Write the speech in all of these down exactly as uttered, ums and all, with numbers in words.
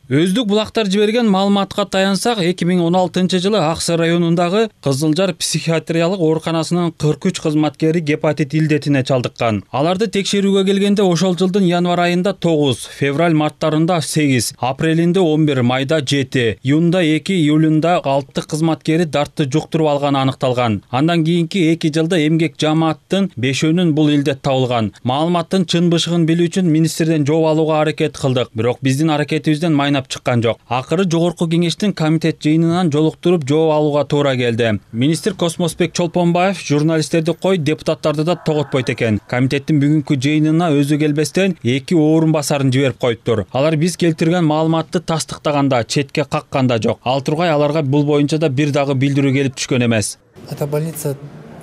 Өздүк булактар жиберген маалыматка таянсак, эки миң он алтынчы жылы Аксы районундагы Кызылжар психиатриялык ооруканасынын кырк үч кызматкери гепатит илдетине чалдыккан. Аларды текшерүүгө келгенде ошол жылдын январь айында тогуз, февраль марттарында сегиз, апрелинде он бир, майда жети, июнда эки, июлунда алты кызматкери дартты жуктуруп алганы аныкталган. Андан кийинки эки жылда эмгек жамааттын бешөөнүн бул илдет табылган. Маалыматтын чын бышыгын билүү үчүн министрден жооп алууга аракет кылдык, бирок биздин аракетибизден майнап чыккан жок. Акыры жогорку кеңештин комитет жыйынынан жолуктуруп жооп алууга туура келди. Министр Космосбек Чолпонбаев журналисттерди кой, депутаттарды да тоготпойт экен. Комитеттин бүгүнкү жыйынына өзү келбестен эки орун басарын жиберип коюптур. Алар биз келтирген маалыматты тастыктаганда, четке какканда жок. Ал тургай аларга бул боюнча да бир дагы билдирүү келип түшкөн эмес. Это больница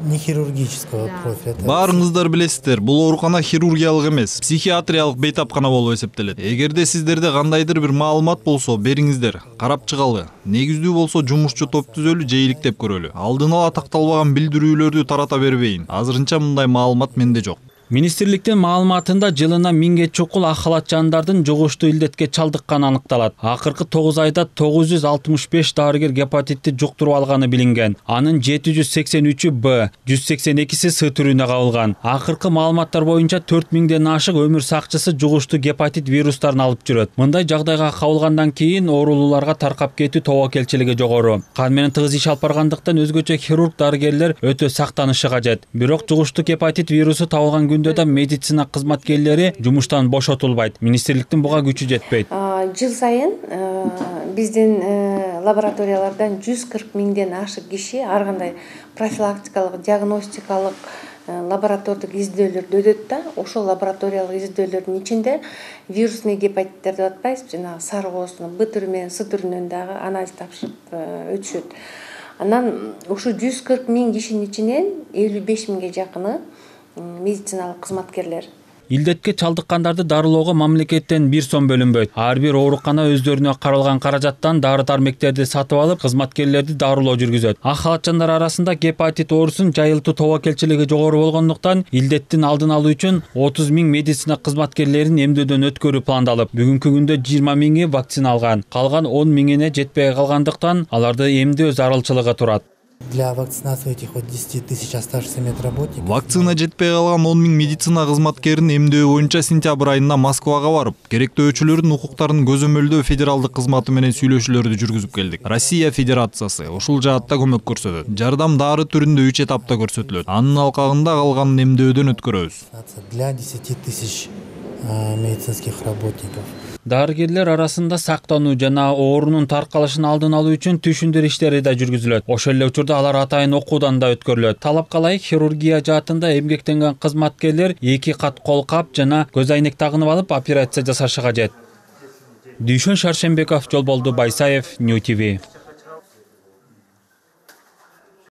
не хирургического профиля. Баарыңыздар билесиздер, бул оорукана хирургиялык эмес, психиатриялык бейтапкана болуп эсептелет. Эгерде сиздерде кандайдыр бир маалымат болсо, бериңиздер, карап чыгалы. Негиздүү болсо жумушчу топ түзөлү же иликтеп көрөлү. Алдын ала такталбаган билдирүүлөрдү тарата бербейин. Азырынча мындай маалымат менде жок. Министрликтин маалыматында жылына миңге чукул ак халатчандардын жугуштуу илдетке чалдыкканы аныкталат. Акыркы тогуз айда тогуз жүз алтымыш беш дарыгер гепатитти жуктуруп алганы билинген. Анын жети жүз сексен үчү Б, жүз сексен экиси С түрүнө кабылган. Акыркы маалыматтар боюнча төрт миңден ашык өмүр сакчысы жугуштуу гепатит вирустарын алып жүрөт. Мындай жагдайга кабылгандан кийин оорулууларга таркап кетүү тобокелчилиги жогору. Кан менен тыгыз иш алып баргандыктан өзгөчө хирург дарыгерлер өтө сактанышы кажет. Бирок жугуштуу гепатит вирусу табылган күндө да медицина кызматкерлери жумуштан бошотулбайт. Министрликтин буга күчү жетпейт. Жыл сайын биздин лабораториялардан жүз кырк миңден ашык киши ар кандай профилактикалык, диагностикалык, лаборатордук издөөлөрдү өтөт да. Ошол лабораториялык издөөлөрдүн ичинде вирусный гепатиттерди атпайбыз, жанагы саркооздун Б түрү менен С түрүнөн дагы анализ тапшырып өтүшөт. Анан ушу жүз кырк миң кишинин ичинен элүү беш миңге жакыны медициналык кызматкерлер. Илдетке чалдыккандарды дарылоого мамлекеттен бир сом бөлүнбөйт. Ар бир оорукана өздөрүнө каралган каражаттан дары-дармектерди сатып алып, кызматкерлерди дарылоо жүргүзөт. Ак халатчандар арасында гепатит оорусун жайылтуу тобокелчилиги жогору болгондуктан, илдеттин алдын алуу үчүн отуз миң медицина кызматкерлерин эмдөөдөн өткөрүү пландалып, бүгүнкү күндө жыйырма миңи вакцина алган. Калган он миңине жетпей калгандыктан, аларды эмдөө зарылчылыгы турат. Для вакцинации этих вот десяти тысяч оставшихся медработников. Вакцина жетпей калган он миң медицина кызматкерин эмдөө боюнча сентябрь айында Москвага барып, керектөөчүлөрдүн укуктарын көзөмөлдөө федералдык кызматы менен сүйлөшүүлөрдү жүргүзүп келдик. Россия Федерациясы ушул жаатта көмөк көрсөтөт. Жардам дары түрүндө үч этапта көрсөтүлөт. Анын алкагында калган эмдөөдөн өткөрөбүз. Для десяти тысяч медицинских работников. Дарыгерлер арасында сактануу жана оорунун таркалышын алдын алуу үчүн түшүндүрүү иштери да жүргүзүлөт. Ошол эле учурда алар атайын окуудан да өткөрүлөт. Талапка ылайык хирургия жаатында эмгектенген кызматкерлер эки кат кол кап жана көз айнек тагынып алып операция жасашы кажет. Дүйшөн Шаршембеков, Жолболду Байсаев, Нью ти ви.